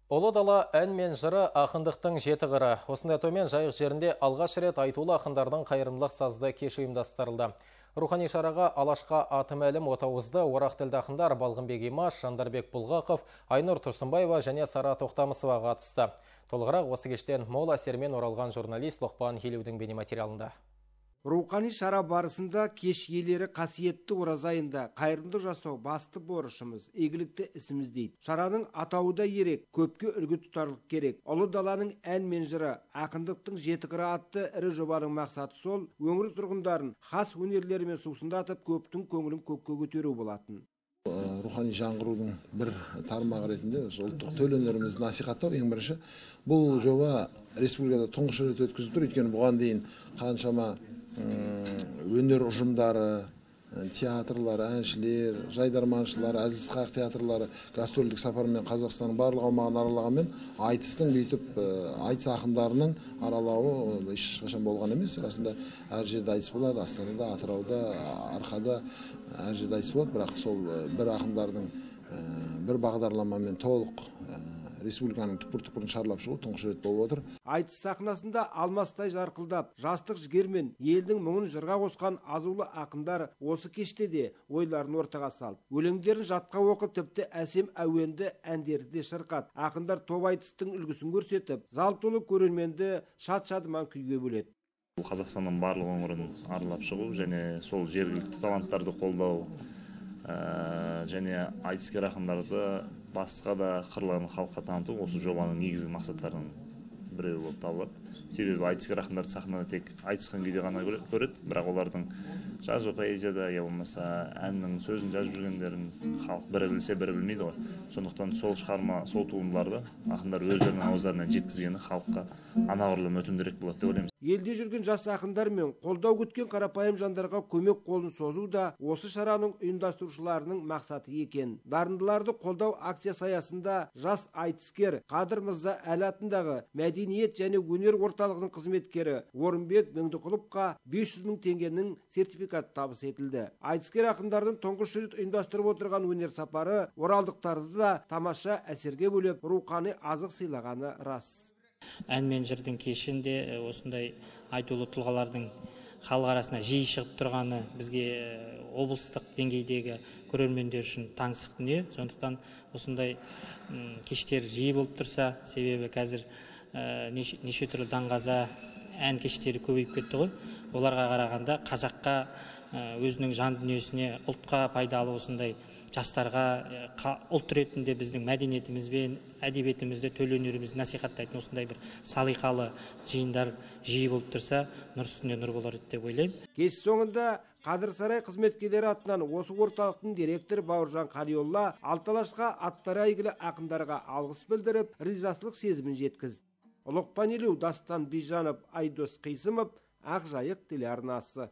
Ұлы дала ән мен жыры ақындықтың жеті қыры. Осындай төмен жайық жерінде алғаш рет айтулы ақындардың қайырымдылық сазды кеш ұйымдастырылды. Рухани шараға Алашқа аты мәлім Отауызды орақ тілді ақындар Балғынбек Имаш, Жандарбек Бұлғақов, Айнұр Тұрсынбаева және Сара Тоқтамысова қатысты. Толығырақ осы кештен мол әсермен оралған журналист Лоқпан Елеудің бейнематериалында. Рухани шара барысында кеш иелері қасиетті ораза айында қайырымдылық жасау басты борышымыз, игілікті ісіміз дейді. Шараның атауы да ерек, көпке үлгі тұтарлық керек. Ұлы даланың ән мен жыры, ақындықтың жеті қыры атты ірі жобаның мақсаты сол, өңір тұрғындарын хас өнерлерімен сусындатып, көптің көңілін көкке көтеру болатын. Рухани жаңғырудың бір тармағы ретінде ұлттық төл өнерімізді насихаттау ең бірінші. Бұл жоба республикада тұңғыш рет өткізіліп тұр. Өйткені бұған дейін қаншама өнер ұжымдары, театрлар, әншілер, жайдарманшылар, әзіл-сықақ театрлары гастрольдік сапармен Қазақстанның барлық аумағын аралағанмен айтыстың бүйтіп айтыс ақындарының аралауы ешқашан болған емес. Расында әр жерде айтыс болады, Астанада, Атырауда, Арқада әр жерде айтыс болады, бірақ сол бір ақындардың бір бағдарламамен толық республиканың түкпір-түкпірін шарлап шығу тұңғыш рет болып отыр. Айтыс сахнасында алмастай жарқылдап, жастық жігермен елдің мұңын жырға қосқан азулы ақындар осы кеште де ойларын ортаға салып, өлеңдерін жатқа оқып, тіпті әсем әуенді әндерді де шырқат. Ақындар топ айтыстың үлгісін көрсетіп, зал толы көрерменді шат-шадыман күйге бөледі. Қазақстанның барлық өңірін аралап шығу және сол жергілікті таланттарды қолдау және айтыскер ақындарды басқа да қырларын халыққа таныту осы жобаның негізгі мақсаттарының біреуі болып табылады. Себебі айтыскер ақындарды сахнада тек айтысқан күйде ғана көреді, бірақ олардың жазба поэзияда, я болмаса әннің сөзін жазып жүргендерін халық бірі білсе, бірі білмейді ғой. Сондықтан сол шығарма, сол туындыларды ақындар өздерінің ауыздарынан жеткізгені халыққа анағұрлым өтімдірек болады деп ойлаймыз. Елде жүрген жас ақындар мен қолдау күткен қарапайым жандарға көмек қолын созу да осы шараның ұйымдастырушыларының мақсаты екен. Дарындыларды қолдау акциясы аясында жас айтыскер Қадыр Мырза Әлі атындағы мәдениет және өнер орталығының қызметкері Орынбек Меңдіқұловқа 500 мың теңгенің сертификаты табыс етілді. Айтыскер ақындардың тұңғыш рет ұйымдастырып отырған өнер сапары оралдықтарды да тамаша әсерге бөлеп, рухани азық сыйлағаны рас. Ән мен жырдың кешінде осындай айтулы тұлғалардың халық арасына жиі шығып тұрғаны бізге облыстық деңгейдегі көрермендер үшін таңсық дүние. Сондықтан осындай кештер жиі болып тұрса, себебі қазір неше түрлі даңғаза ән кештері көбейіп кетті ғой. Оларға қарағанда қазаққа өзінің жан дүниесіне, ұлтқа пайдалы осындай жастарға ұлт ретінде біздің мәдениетіміз бен әдебиетімізді, төл өнерімізді насихаттайтын осындай бір салиқалы жиындар жиі болып тұрса, нұр үстіне нұр болар еді деп ойлаймын. Кеш соңында Қадыр Сарай қызметкерлері атынан осы орталықтың директоры Бауыржан Қалиолла Алталашқа аттары әйгілі ақындарға алғыс білдіріп, ризашылық сезімін жеткізді. Лоқпан Елеу, Дастан Бижанов, Айдос Қисымов, Ақжайық телеарнасы.